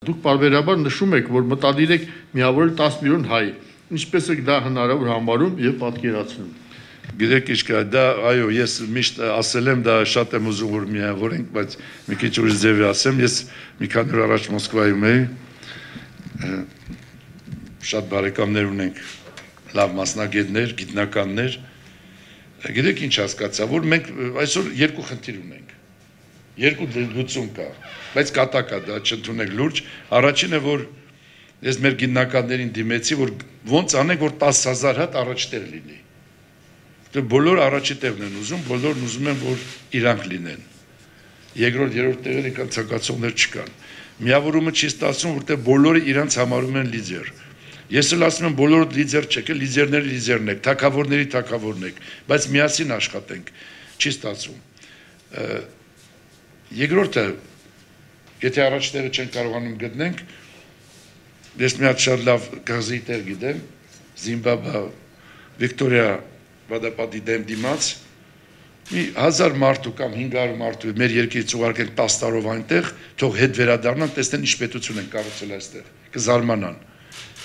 Դուք բարբերաբար նշում եք, որ մտադիր եք միավորել 10 միլիոն հայ։ Ինչպես եք դա հնարավոր համարում եւ պատկերացնում։ Գիտեք ինչ կա, դա այո, ես միշտ ասել եմ, դա շատ եմ ուզում որ միավորենք, բայց մի քիչ ուրիշ ձևի ասեմ, ես մի քանի օր առաջ Մոսկվայում էի, շատ բարեկամներ ունենք, լավ մասնագետներ, գիտնականներ, գիտեք ինչ հասկացա, որ մենք այսօր երկու խնդիր ունենք, երկու լուծում կա, բայց կատակա դա չընդունեք լուրջ, առաջինը որ ես մեր գիտնականներին դիմեցի, որ ոնց անենք, որ 10,000 հատ առաջտեղ լինի, բոլոր առաջի տեղն են ուզում, բոլորն ուզում են, որ իրանք լինեն, երկրորդ, երրորդ տեղերը կան ցանկացողներ չկան, միավորումը չի ստացվում, որտեղ բոլորը իրանց համարում են լիդեր, ես էլ ասում եմ բոլորը լիդեր չեք, լիդերները լիդերն եք, թագավորների թագավորն եք, բայց միասին աշխատենք, չի ստացվում, երկրորդը, եթե առաջ տեղը չեն կարողանում գտնենք, ես մի հատ շատ լավ գազի տեղ գիտեմ, Զիմբաբվե, Վիկտորիա վադապատի դեմ դիմաց, մի 1000 մարդու կամ 500 մարդու մեր երկրից ուղարկենք 10 տարով այնտեղ, թող հետ վերադառնան, տեսնեն ինչ պետություն են կառուցել այստեղ, կզարմանան,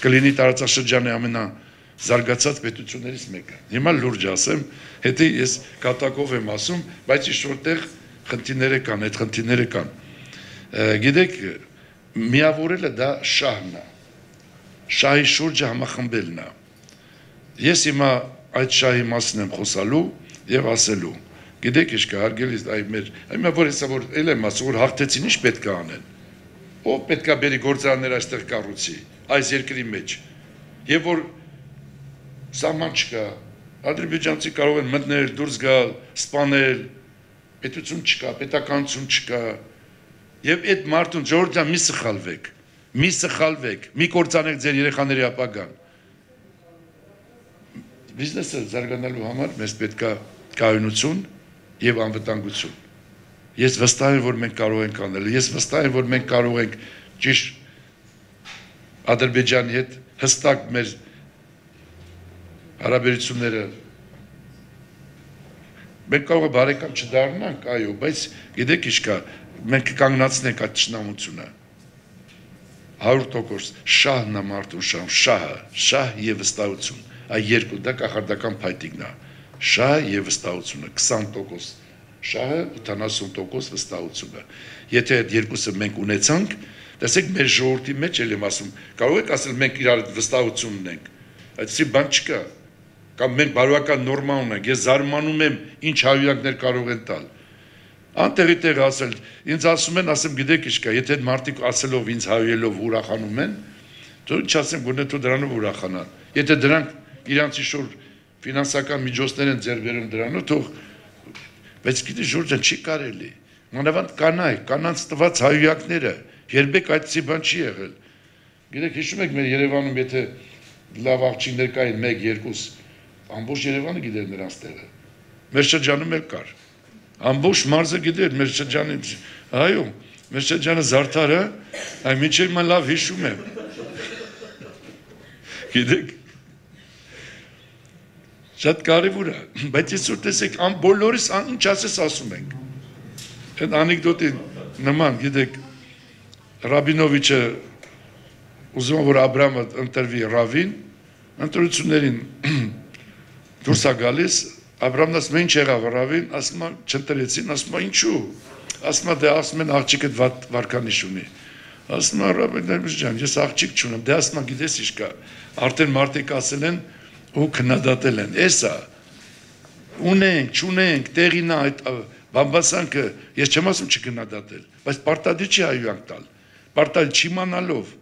կլինի տարածաշրջանի ամենազարգացած պետություններից մեկը։ Հիմա լուրջ ասեմ, հետո ես կատակով եմ ասում, բայց ինչ-որտեղ խնդիրները կան, այդ խնդիրները կան։ Գիտեք, միավորելը դա շահն է, շահի շուրջը համախմբելն է։ Ես հիմա այդ շահի մասին եմ խոսալու եւ ասելու։ Գիտեք ինչ կա, հարգելի այ որ հեսա որ էլ եմ ասում, որ հաղթեցին ինչ պետք է անեն։ Ով պետք է բերի գործարաններ այստեղ կառուցի, այս երկրի մեջ։ Եվ որ սահման չկա, ադրբեջանցի կարող են մտնել, դուրս գալ, սպանել, պետություն չկա, պետականություն չկա։ Եվ այդ մարդուն ժողովուրդ մի սխալվեք, մի կործանեք ձեր երեխաների ապագան։ Բիզնեսը զարգանալու համար մեզ պետք է կայունություն եւ անվտանգություն։ Ես վստահ եմ, որ մենք կարող ենք անել, ես վստահ եմ, որ մենք կարող ենք ճիշտ Ադրբեջանի հետ հստակ մեր հարաբերությունները մենք կարող է բարեկամ չդառնանք, այո, բայց գիտեք ինչ կա, մենք կանգնացնենք այդ ճշնամությունը 100% շահն է մարդուն շահ եւ վստահություն, այ երկու դա կախարդական փայտիկն է, շահ եւ վստահությունը 20% շահը 80% վստահությունը, եթե այդ երկուսը մենք ունեցանք, տեսեք մեր ժողովրդի մեջ էլ եմ ասում, կարող եք ասել մենք իրար վստահություն ունենք, այդպիսի բան չկա, կամ մենք բարոյական նորմա ունենք, ես զարմանում եմ ինչ հայույանքներ կարող են տալ, անտեղի տեղ ասել, ինձ ասում են, ասեմ գիտեք ինչ կա, եթե մարդիկ ասելով ինձ հայույելով ուրախանում են, թող ինչ ասեմ, գոնե թող դրանով ուրախանան, եթե դրանք իրանցի շուր ֆինանսական միջոցներ են ձեռք բերում դրանով, թող, բայց գիտի Ժորժան չի կարելի, մանավանդ կանանց տված հայույանքները, երբեք այդպիսի բան չի եղել, գիտեք հիշում եք մեր Երևանում, եթե լավ աղջիկներ կային 1-2, ամբողջ Երևանը գիտեր նրանց տեղը, մեր շրջանում էլ կար, ամբողջ մարզը գիտեր մեր շրջանի, այո, մեր շրջանը Զարդարը, այ մինչև mən լավ հիշում եմ, գիտեք, շատ կարևոր է, բայց ես որ տեսեք, բոլորիս ինչ ասես ասում ենք, այդ անեկդոտի նման, գիտեք, Ռաբինովիչը ուզում որ Աբրամը ընտրվի Ռավին, ընտրություններին դուրս է գալիս, Աբրամն ասում է ինչ եղավ Ռավին, ասում է չընտրեցին, ասում է ինչու, ասում է դե ասում են աղջիկը վարկանիշ ունի, ասում է Ռաբին ջան, ես աղջիկ չունեմ, դե ասում է գիտես ինչ կա, արդեն մարդիկ ասել են ու քննադատել են, էսա, ունենք, չունենք, տեղին է այդ բամբասանքը, ես չեմ ասում չքննադատել, բայց պարտադիր չի հայույանք տալ, պարտադիր չիմանալով,